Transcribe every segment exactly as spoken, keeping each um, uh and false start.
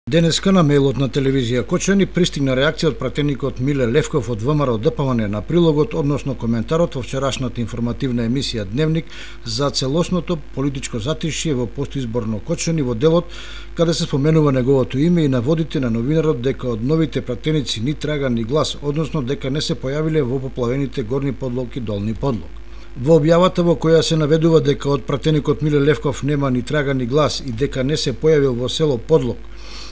Денеска на мејлот на телевизија Кочани пристигна реакција од пратеникот Миле Левков од ВМРО ДПМН на прилогот, односно коментарот во вчерашната информативна емисија Дневник за целосното политичко затишје во постизборно Кочани, во делот каде се споменува неговото име и наводите на новинарот дека од новите пратеници ни трага ни глас, односно дека не се појавиле во поплавените горни подлог и долни подлог. Во објавата во која се наведува дека од пратеникот Миле Левков нема ни трага ни глас и дека не се појавил во село Подлог,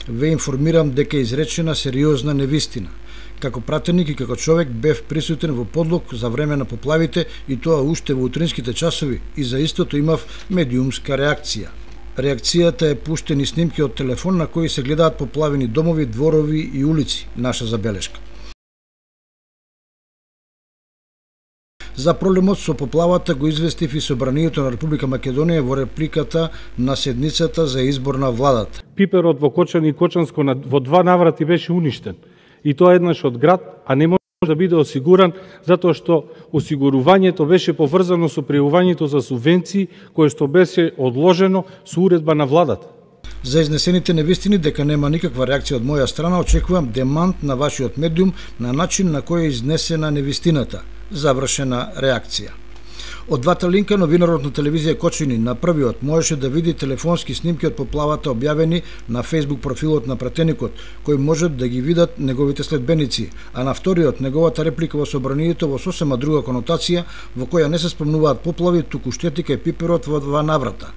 ве информирам дека е изречена сериозна невистина. Како пратеник и како човек бев присутен во Подлог за време на поплавите и тоа уште во утринските часови и за истото имав медиумска реакција. Реакцијата е пуштени снимки од телефон на кои се гледаат поплавени домови, дворови и улици, наша забелешка. За проблемот со поплавата го известив и Собранието на Република Македонија во репликата на седницата за избор на владата. Пиперот во Кочани и Кочанско во два наврати беше уништен. И тоа еднаш од град, а не може да биде осигуран затоа што осигурувањето беше поврзано со пријавувањето за субвенции кое што беше одложено со уредба на владата. За изнесените невистини дека нема никаква реакција од моја страна, очекувам демант на вашиот медиум на начин на кој е изнесена невистината. Завршена реакција. Од двата линка новинарот на телевизија Кочани на првиот можеше да види телефонски снимки од поплавата објавени на Facebook профилот на пратеникот, кој можат да ги видат неговите следбеници, а на вториот неговата реплика во Собранието во сосема друга конотација во која не се спомнуваат поплави, туку штетика и пиперот во два наврата.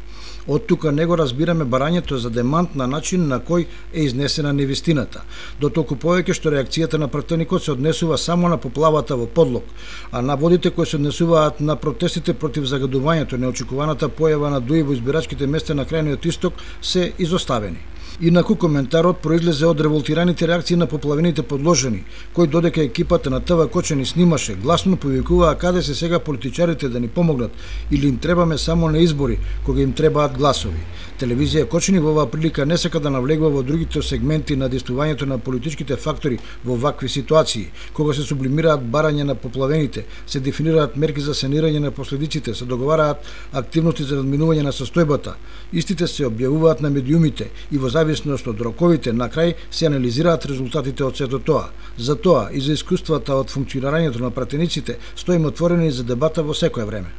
Од тука него разбираме барањето за демант на начин на кој е изнесена невистината. До толку повеќе што реакцијата на пратеникот се однесува само на поплавата во Подлог, а наводите кои се однесуваат на протестите против загадувањето, неочекуваната појава на дуи во избирачките места на крајниот исток се изоставени. Инаку коментарот произлезе од револтираните реакции на поплавените подложени, кои додека екипата на ТВ Кочани снимаше, гласно повикуваа каде се сега политичарите да ни помогнат или им требаме само на избори, кога им требаат гласови. Телевизија Кочани во оваа прилика не сака да навлегува во другите сегменти на действувањето на политичките фактори во вакви ситуации, кога се сублимираат барања на поплавените, се дефинираат мерки за санирање на последиците, се договараат активности за надминување на состојбата. Истите се објавуваат на медиумите и во зависност од роковите на крај се анализираат резултатите од сето тоа. За тоа и за искуствата од функционирањето на пратениците стоиме отворени за дебата во секое време.